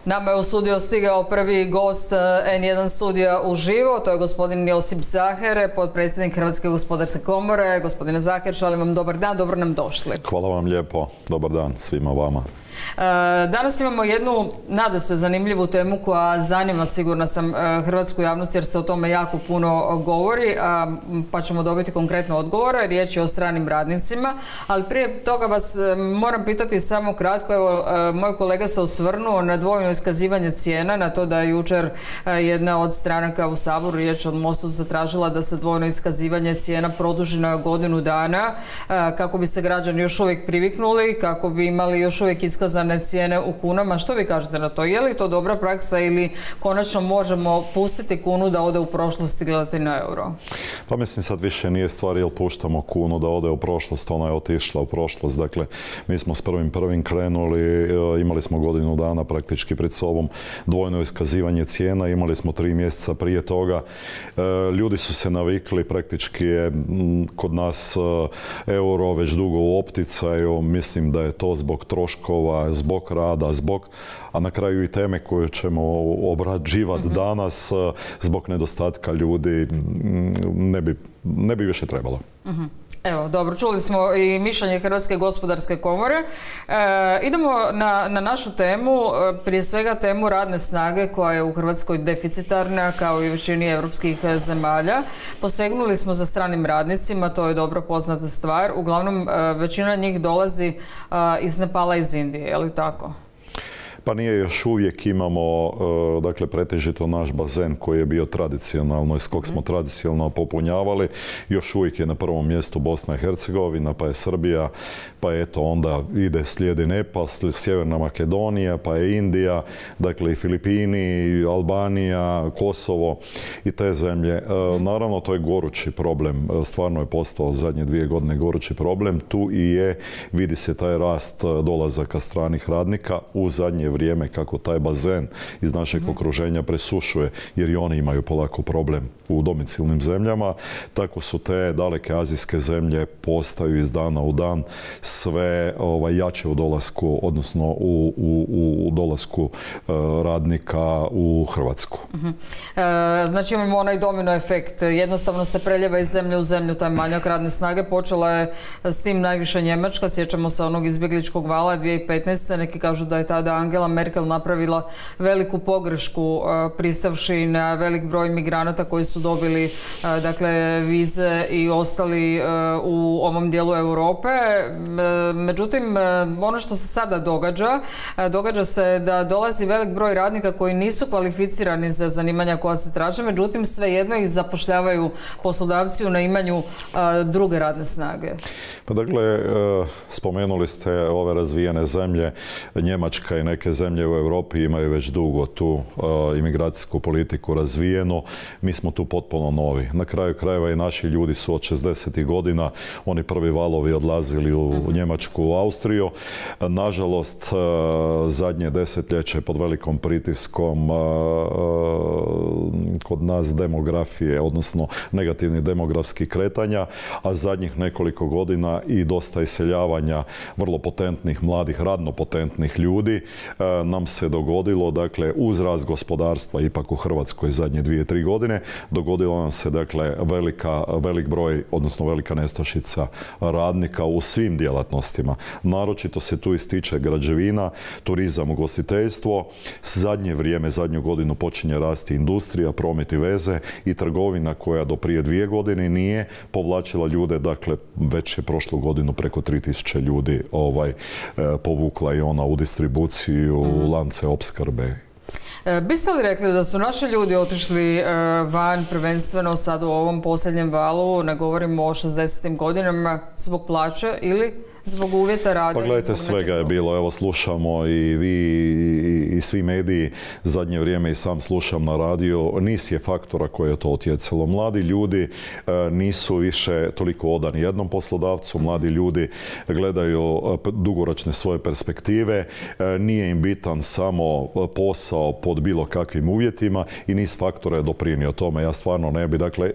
Nama je u studio stigao prvi gost N1 studija uživo, to je gospodin Josip Zaher, potpredsjednik Hrvatske gospodarske komore. Gospodine Zaher, želim vam dobar dan, dobro nam došli. Hvala vam lijepo, dobar dan svima vama. Danas imamo jednu nadasve zanimljivu temu koja zanima, sigurna sam, hrvatsku javnost jer se o tome jako puno govori, pa ćemo dobiti konkretno odgovore. Riječ je o stranim radnicima, ali prije toga vas moram pitati samo kratko. Evo, moj kolega se osvrnuo na dvojno iskazivanje cijena, na to da je jučer jedna od stranaka u Saboru, riječ od Mostu, zatražila da se dvojno iskazivanje cijena produži na godinu dana kako bi se građani još uvijek priviknuli, kako bi imali još uvijek iskazane cijene u kunama. Što vi kažete na to? Je li to dobra praksa ili konačno možemo pustiti kunu da ode u prošlost i gledati na euro? Pa mislim, sad više nije stvar jel puštamo kunu da ode u prošlost, ona je otišla u prošlost. Dakle, mi smo s 1.1. krenuli, imali smo godinu dana praktički pred sobom dvojno iskazivanje cijena, imali smo 3 mjeseca prije toga. Ljudi su se navikli, praktički je kod nas euro već dugo u opticaju. Mislim da je to zbog troškova, zbog rada, a na kraju i teme koje ćemo obrađivati danas, zbog nedostatka ljudi, ne bi više trebalo. Evo, dobro, čuli smo i mišljenje Hrvatske gospodarske komore. Idemo na našu temu, prije svega temu radne snage koja je u Hrvatskoj deficitarna kao i u većini europskih zemalja. Posegnuli smo za stranim radnicima, to je dobro poznata stvar. Uglavnom, većina njih dolazi iz Nepala i iz Indije, je li tako? Pa nije, još uvijek imamo, dakle, pretežito naš bazen koji je bio tradicionalno, iz kog smo tradicionalno popunjavali. Još uvijek je na prvom mjestu Bosna i Hercegovina, pa je Srbija, pa eto onda slijedi Nepal, Sjeverna Makedonija, pa je Indija, dakle i Filipini, Albanija, Kosovo i te zemlje. Naravno, to je gorući problem, stvarno je postao zadnje 2 godine gorući problem. Tu i je, vidi se taj rast dolazaka stranih radnika u zadnje vrijeme kako taj bazen iz našeg okruženja presušuje, jer i oni imaju polako problem u domicilnim zemljama. Tako su te daleke azijske zemlje postaju iz dana u dan sve jače u dolasku, odnosno u dolasku radnika u Hrvatsku. Znači imamo onaj domino efekt. Jednostavno se preljeva iz zemlje u zemlju taj manjak radne snage. Počela je s tim najviše Njemačka. Sjećamo se onog izbjegličkog vala 2015. Neki kažu da je tada Angela Merkel napravila veliku pogrešku pristavši na velik broj migranata koji su dobili dakle vize i ostali u ovom dijelu Europe. Međutim, ono što se sada događa se da dolazi velik broj radnika koji nisu kvalificirani za zanimanja koja se traže, međutim svejedno ih zapošljavaju poslodavci u naimanju druge radne snage. Pa dakle, spomenuli ste ove razvijene zemlje, Njemačka i neke zemlje u Europi imaju već dugo tu imigracijsku politiku razvijenu. Mi smo tu potpuno novi. Na kraju krajeva i naši ljudi su od 60. godina, oni prvi valovi odlazili u Njemačku, u Austriju. Nažalost, zadnje desetljeće pod velikom pritiskom kod nas demografije, odnosno negativnih demografskih kretanja, a zadnjih nekoliko godina i dosta iseljavanja vrlo potentnih, mladih, radno potentnih ljudi, nam se dogodilo, dakle, uz rast gospodarstva ipak u Hrvatskoj zadnje 2-3 godine, dogodilo nam se, dakle, velik broj, odnosno velika nestašica radnika u svim djelatnostima. Naročito se tu ističe građevina, turizam, ugostiteljstvo. Zadnje vrijeme, zadnju godinu počinje rasti industrija, promet i veze i trgovina koja do prije 2 godine nije povlačila ljude, dakle, već je prošlu godinu preko 3000 ljudi povukla i ona u distribuciju, lance opskrbe. Biste li rekli da su naši ljudi otišli van prvenstveno sad u ovom posljednjem valu, ne govorimo o 60. godinama, zbog plaće ili zbog uvjeta rada? Pa gledajte, svega je bilo. Evo, slušamo i vi i svi mediji zadnje vrijeme i sam slušam na radiju. Niz je faktora koje je to utjecalo. Mladi ljudi nisu više toliko odani jednom poslodavcu. Mladi ljudi gledaju dugoročne svoje perspektive. Nije im bitan samo posao pod bilo kakvim uvjetima i niz faktora je doprinio tome. Ja stvarno ne bi. Dakle,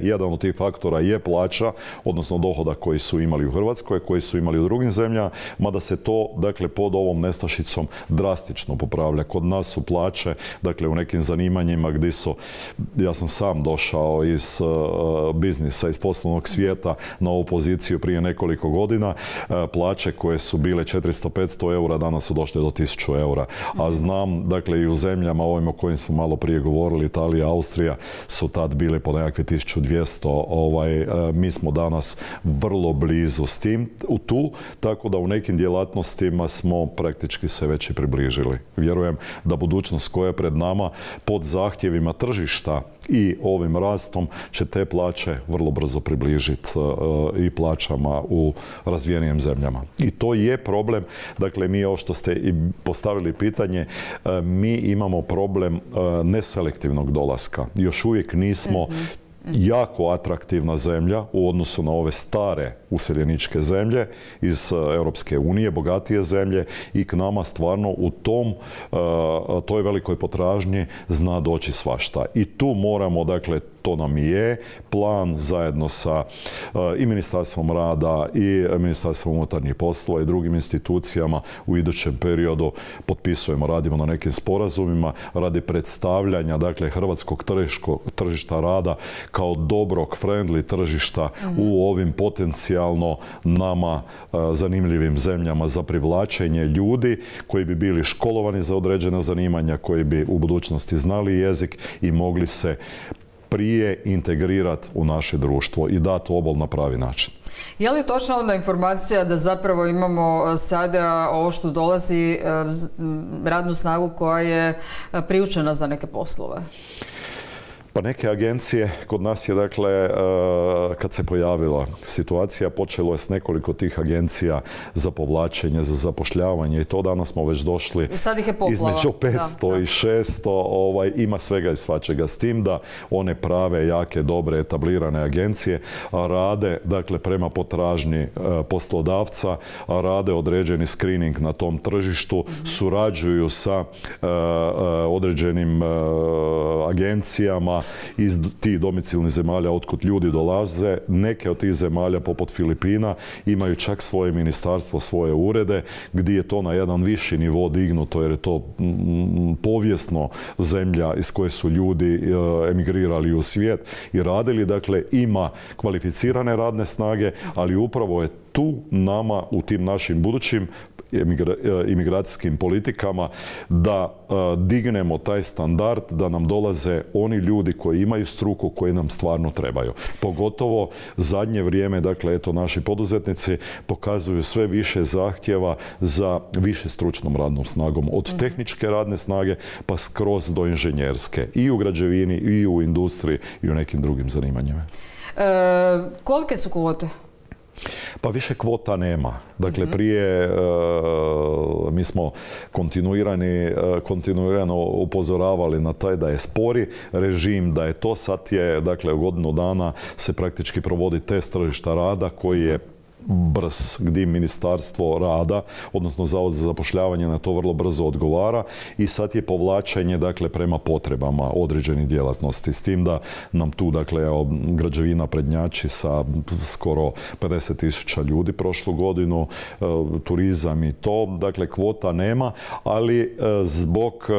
jedan od tih faktora je plaća, odnosno dohodak koji su imali u Hrvatskoj, koji su imali u drugim zemljama, mada se to, dakle, pod ovom nestašicom drastično popravlja. Kod nas su plaće, dakle u nekim zanimanjima gdje su, ja sam sam došao iz biznisa, iz poslovnog svijeta na ovu poziciju prije nekoliko godina, plaće koje su bile 400-500 eura, danas su došle do 1000 eura. A znam, dakle, i u zemljama ovim o kojim smo malo prije govorili, Italija, Austrija, su tad bile po nekakve 1200. Mi smo danas vrlo blizu s tim, tu, tako da u nekim djelatnostima smo praktički se već i približili. Vjerujem da budućnost koja je pred nama pod zahtjevima tržišta i ovim rastom će te plaće vrlo brzo približiti i plaćama u razvijenijim zemljama. I to je problem, dakle mi, ovo što ste i postavili pitanje, mi imamo problem neselektivnog dolaska. Još uvijek nismo jako atraktivna zemlja u odnosu na ove stare useljeničke zemlje iz Europske unije, bogatije zemlje, i k nama stvarno u toj velikoj potražnji zna doći svašta. I tu moramo, dakle, to nam je plan zajedno sa i Ministarstvom rada i Ministarstvom unutarnjih poslova i drugim institucijama u idućem periodu potpisujemo, radimo na nekim sporazumima radi predstavljanja, dakle, hrvatskog tržišta rada kao dobrog, friendly tržišta u ovim potencijalno nama zanimljivim zemljama za privlačenje ljudi koji bi bili školovani za određena zanimanja, koji bi u budućnosti znali jezik i mogli se prije integrirati u naše društvo i dati obol na pravi način. Je li točna onda informacija da zapravo imamo sada ovo što dolazi radnu snagu koja je priučena za neke poslove? Pa neke agencije, kod nas je, dakle, kad se pojavila situacija, počelo je s nekoliko tih agencija za povlačenje, za zapošljavanje, i to danas smo već došli između 500 i 600, ima svega i svačega. S tim da one prave, jake, dobre, etablirane agencije rade, dakle, prema potražnji poslodavca, rade određeni screening na tom tržištu, surađuju sa određenim agencijama iz tih domicilnih zemalja otkud ljudi dolaze. Neke od tih zemalja, poput Filipina, imaju čak svoje ministarstvo, svoje urede, gdje je to na jedan viši nivo dignuto, jer je to povijesno zemlja iz koje su ljudi emigrirali u svijet i radili. Dakle, ima kvalificirane radne snage, ali upravo je tu nama u tim našim budućim imigracijskim politikama da dignemo taj standard, da nam dolaze oni ljudi koji imaju struku, koji nam stvarno trebaju. Pogotovo zadnje vrijeme, dakle, eto, naši poduzetnici pokazuju sve više zahtjeva za više stručnom radnom snagom. Od tehničke radne snage pa skroz do inženjerske. I u građevini, i u industriji, i u nekim drugim zanimanjima. Kolike su kvote? Pa više kvota nema. Dakle, prije mi smo kontinuirano upozoravali na taj da je spori režim, da je to sad je, dakle, u godinu dana se praktički provodi test tržišta rada koji je brz, gdje Ministarstvo rada, odnosno Zavod za zapošljavanje, na to vrlo brzo odgovara, i sad je povlačenje, dakle, prema potrebama određenih djelatnosti. S tim da nam tu, dakle, građevina prednjači sa skoro 50.000 ljudi prošlu godinu, turizam i to, dakle, kvota nema, ali zbog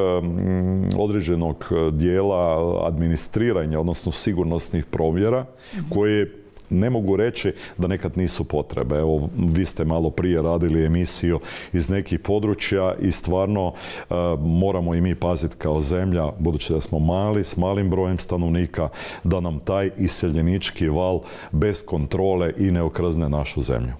određenog dijela administriranja, odnosno sigurnosnih provjera, koje ne mogu reći da nekad nisu potrebe. Evo, vi ste malo prije radili emisiju iz nekih područja i stvarno moramo i mi paziti kao zemlja, budući da smo mali, s malim brojem stanovnika, da nam taj iseljenički val bez kontrole i ne okrzne našu zemlju.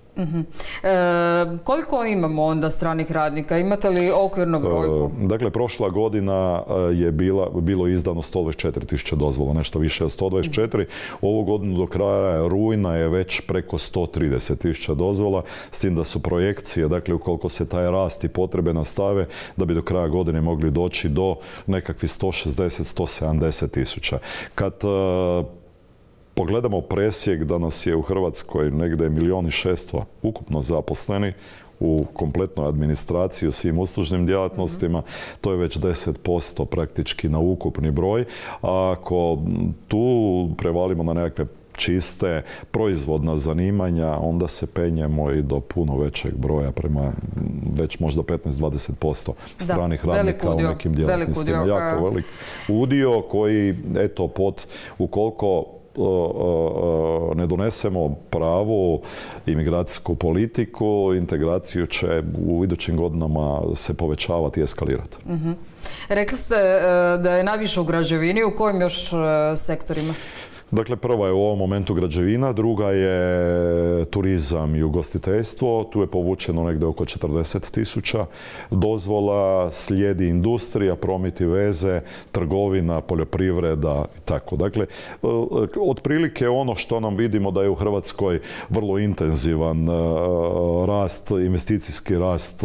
Koliko imamo onda stranih radnika? Imate li okvirnu brojku? Dakle, prošla godina je bilo izdano 124.000 dozvola, nešto više od 124. Ovu godinu do kraja rujna je već preko 130.000 dozvola, s tim da su projekcije, dakle, ukoliko se taj rast i potrebe nastave, da bi do kraja godine mogli doći do nekakvih 160-170.000. Kad pogledamo presjek da nas je u Hrvatskoj negdje 1.600.000 ukupno zaposleni u kompletnoj administraciji, u svim uslužnim djelatnostima, to je već 10% praktički na ukupni broj. A ako tu prevalimo na nekakve čiste proizvodna zanimanja, onda se penjemo i do puno većeg broja, prema već možda 15-20% stranih radnika u nekim djelatnostima. Jako velik udio koji, eto, ukoliko ne donesemo pravu imigracijsku politiku, integraciju će u idućim godinama se povećavati i eskalirati. Rekli ste da je najviše u građevini, u kojim još sektorima? Dakle, prva je u ovom momentu građevina, druga je turizam i ugostiteljstvo. Tu je povučeno negdje oko 40.000 dozvola, slijedi industrija, promet i veze, trgovina, poljoprivreda i tako. Dakle, otprilike ono što nam vidimo da je u Hrvatskoj vrlo intenzivan rast, investicijski rast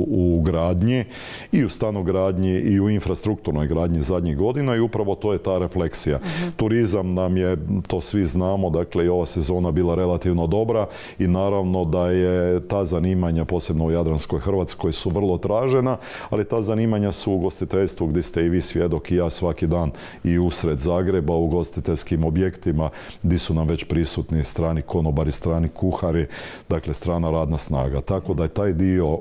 u gradnji i u stanogradnji i u infrastrukturnoj gradnji zadnjih godina i upravo to je ta refleksija. Turizam nam je, to svi znamo, dakle i ova sezona bila relativno dobra i naravno da je ta zanimanja, posebno u Jadranskoj Hrvatskoj, su vrlo tražena, ali ta zanimanja su u ugostiteljstvu gdje ste i vi svjedok i ja svaki dan i usred Zagreba u ugostiteljskim objektima gdje su nam već prisutni strani konobari, strani kuhari, dakle strana radna snaga. Tako da je taj dio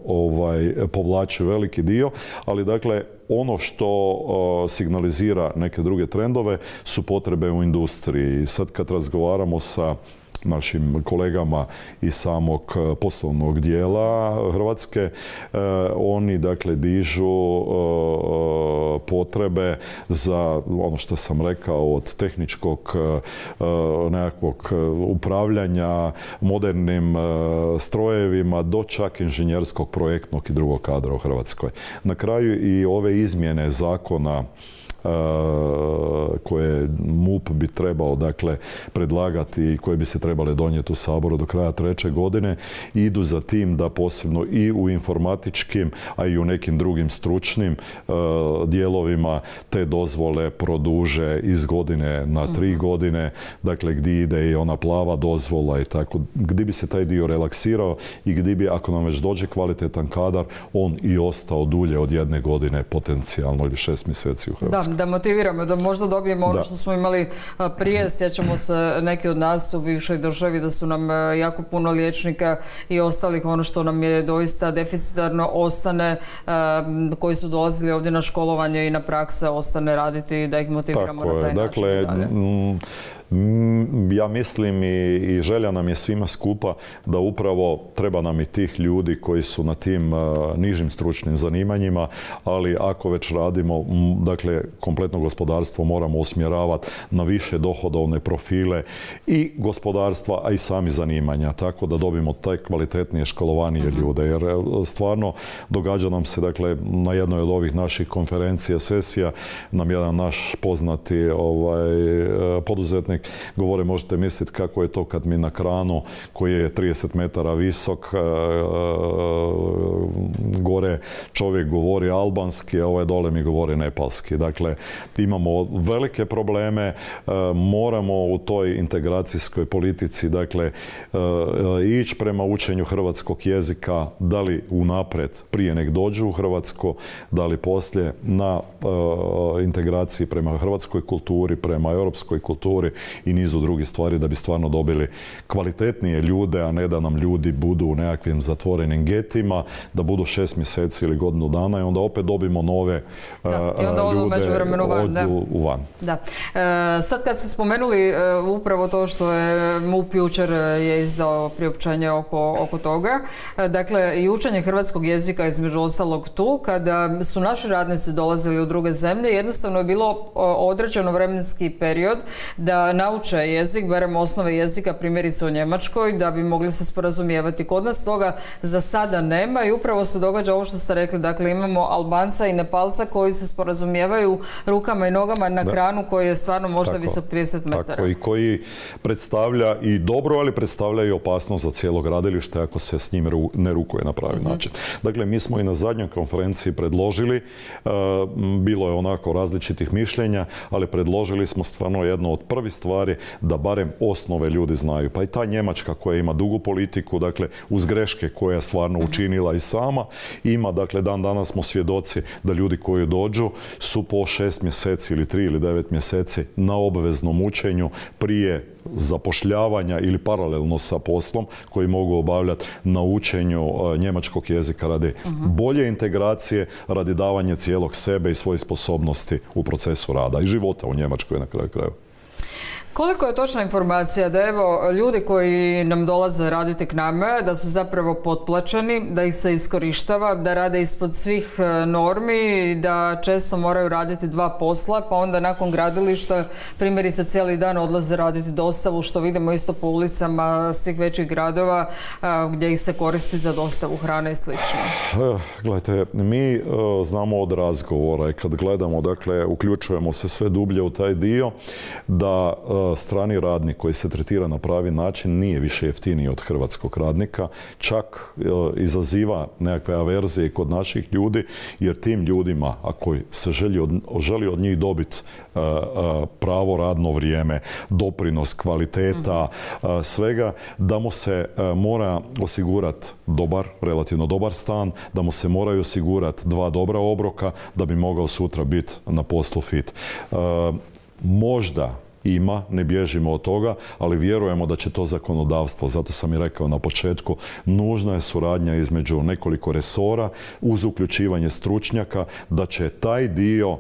povlači veliki dio, ali dakle ono što signalizira neke druge trendove su potrebe u industriji. Sad kad razgovaramo sa našim kolegama iz samog poslovnog dijela Hrvatske, oni dakle dižu potrebe za ono što sam rekao od tehničkog nekakvog upravljanja modernim strojevima do čak inženjerskog, projektnog i drugog kadra u Hrvatskoj. Na kraju i ove izmjene zakona koje MUP bi trebao dakle predlagati i koje bi se trebale donijeti u Saboru do kraja 3. godine idu za tim da posebno i u informatičkim, a i u nekim drugim stručnim dijelovima te dozvole produže iz godine na 3 godine, dakle gdje ide i ona plava dozvola i tako, gdje bi se taj dio relaksirao i gdje bi, ako nam već dođe kvalitetan kadar, on i ostao dulje od 1 godine potencijalno ili 6 mjeseci u Hrvatskoj. Da motiviramo, da možda dobijemo ono što smo imali prije. Sjećamo se neki od nas u bivšoj državi da su nam jako puno liječnika i ostalih, ono što nam je doista deficitarno, ostane, koji su dolazili ovdje na školovanje i na prakse, ostane raditi, da ih motiviramo na taj način. Dakle, ja mislim i želja nam je svima skupa da upravo treba nam i tih ljudi koji su na tim nižim stručnim zanimanjima, ali ako već radimo, dakle, kompletno gospodarstvo moramo usmjeravati na više dohodovne profile i gospodarstva, a i sami zanimanja, tako da dobijemo taj kvalitetnije, školovanije ljude, jer stvarno događa nam se, dakle, na jednoj od ovih naših konferencija, sesija, nam jedan naš poznati poduzetnik govore, možete misliti kako je to kad mi na kranu koji je 30 metara visok gore čovjek govori albanski, a ovaj dole mi govori nepalski. Dakle, imamo velike probleme, moramo u toj integracijskoj politici, dakle, ići prema učenju hrvatskog jezika, da li unaprijed prije nek dođu u Hrvatsko, da li poslije na integraciji prema hrvatskoj kulturi, prema europskoj kulturi i nizu drugih stvari da bi stvarno dobili kvalitetnije ljude, a ne da nam ljudi budu u nekakvim zatvorenim getima, da budu 6 mjeseci ili godinu dana i onda opet dobimo nove ljude u van. Da. Sad kad ste spomenuli upravo to što je MUP jučer je izdao priopćenje oko toga, dakle i učenje hrvatskog jezika između ostalog tu, kada su naši radnici dolazili u druge zemlje, jednostavno je bilo određeno vremenski period da nauče jezik, barem osnove jezika, primjerice u Njemačkoj, da bi mogli se sporazumijevati. Kod nas toga za sada nema i upravo se događa ovo što ste rekli, dakle imamo Albanca i Nepalca koji se sporazumijevaju rukama i nogama na kranu koji je stvarno možda visok 30 metara. Tako, i koji predstavlja i dobro, ali predstavlja i opasnost za cijelo gradilište ako se s njim ne rukuje na pravi način. Dakle, mi smo i na zadnjoj konferenciji predložili, bilo je onako različitih mišljenja, ali predložili smo stvarno jedno od prvih stvari da barem osnove ljudi znaju. Pa i ta Njemačka koja ima dugu politiku, dakle uz greške koje je stvarno učinila i sama, ima, dakle dan danas smo svjedoci da ljudi koji dođu su po 6 mjeseci ili 3 ili 9 mjeseci na obveznom učenju prije zapošljavanja ili paralelno sa poslom koji mogu obavljati na učenju njemačkog jezika radi bolje integracije, radi davanja cijelog sebe i svojih sposobnosti u procesu rada i života u Njemačkoj na kraju krajeva. Koliko je točna informacija da evo ljudi koji nam dolaze raditi k nama, da su zapravo potplaćeni, da ih se iskorištava, da rade ispod svih normi, da često moraju raditi dva posla, pa onda nakon gradilišta primjerice cijeli dan odlaze raditi dostavu, što vidimo isto po ulicama svih većih gradova gdje ih se koristi za dostavu hrane i slično? Gledajte, mi znamo od razgovora i kad gledamo, dakle, uključujemo se sve dublje u taj dio da strani radnik koji se tretira na pravi način nije više jeftiniji od hrvatskog radnika, čak izaziva nekakve averzije kod naših ljudi, jer tim ljudima, ako se želi od njih dobiti pravo radno vrijeme, doprinos, kvaliteta, svega, da mu se mora osigurati relativno dobar stan, da mu se moraju osigurati dva dobra obroka da bi mogao sutra biti na poslu fit. Možda ima, ne bježimo od toga, ali vjerujemo da će to zakonodavstvo, zato sam i rekao na početku, nužna je suradnja između nekoliko resora uz uključivanje stručnjaka, da će taj dio,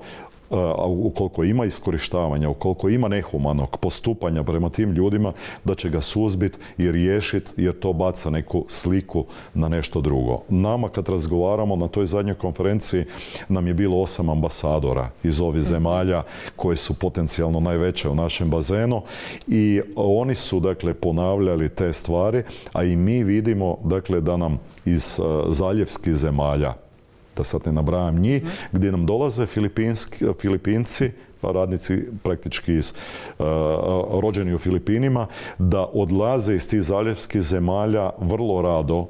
ukoliko ima iskorištavanja, ukoliko ima nehumanog postupanja prema tim ljudima, da će ga suzbiti i riješiti, jer to baca neku sliku na nešto drugo. Nama kad razgovaramo na toj zadnjoj konferenciji nam je bilo 8 ambasadora iz ovih zemalja koje su potencijalno najveće u našem bazenu i oni su, dakle, ponavljali te stvari, a i mi vidimo, dakle, da nam iz zaljevskih zemalja, da sad ne nabrajam njih, gdje nam dolaze Filipinci, radnici praktički rođeni u Filipinima, da odlaze iz tih zaljevskih zemalja vrlo rado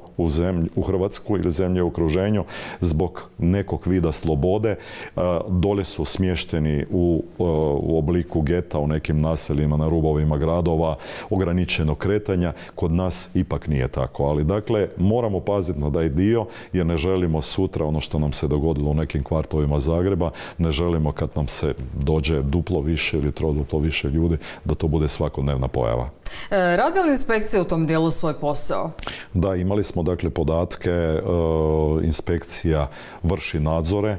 u Hrvatsku ili zemlje u okruženju zbog nekog vida slobode. Dolje su smješteni u obliku geta u nekim naseljima na rubovima gradova, ograničenog kretanja. Kod nas ipak nije tako. Ali dakle, moramo paziti na taj dio jer ne želimo sutra ono što nam se dogodilo u nekim kvartovima Zagreba, ne želimo kad nam se dođe duplo više ili troduplo više ljudi, da to bude svakodnevna pojava. Radi li inspekcija u tom dijelu svoj posao? Da, imali smo, dakle, podatke, inspekcija vrši nadzore.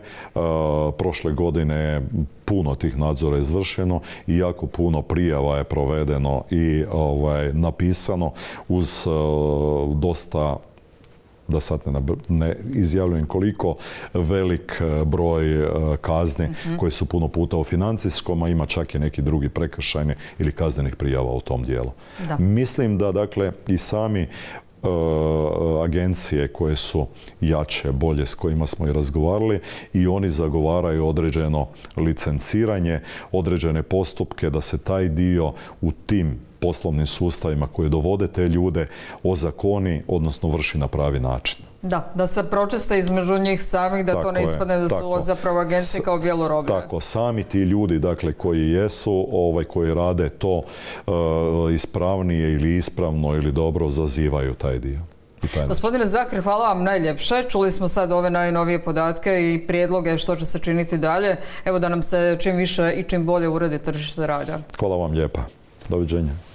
Prošle godine puno tih nadzora je izvršeno i jako puno prijava je provedeno i napisano uz dosta, da sad ne izjavljujem koliko, velik broj kazni koje su puno puta u financijskom, a ima čak i neki drugi prekršajni ili kaznenih prijava u tom dijelu. Da. Mislim da, dakle, i sami agencije koje su jače, bolje, s kojima smo i razgovarali, i oni zagovaraju određeno licenciranje, određene postupke da se taj dio u tim poslovnim sustavima koji dovode te ljude ozakoni, odnosno vrši na pravi način. Da se pročiste između njih samih, da to ne ispadne da su zapravo agencije kao bjeloroblje. Tako, sami ti ljudi, dakle, koji jesu, koji rade to ispravnije ili ispravno ili dobro, zazivaju taj dio. Gospodine Zakir, hvala vam najljepše. Čuli smo sad ove najnovije podatke i prijedloge što će se činiti dalje. Evo da nam se čim više i čim bolje uredi tržište rada. Hvala vam lijepa. Doviđenja.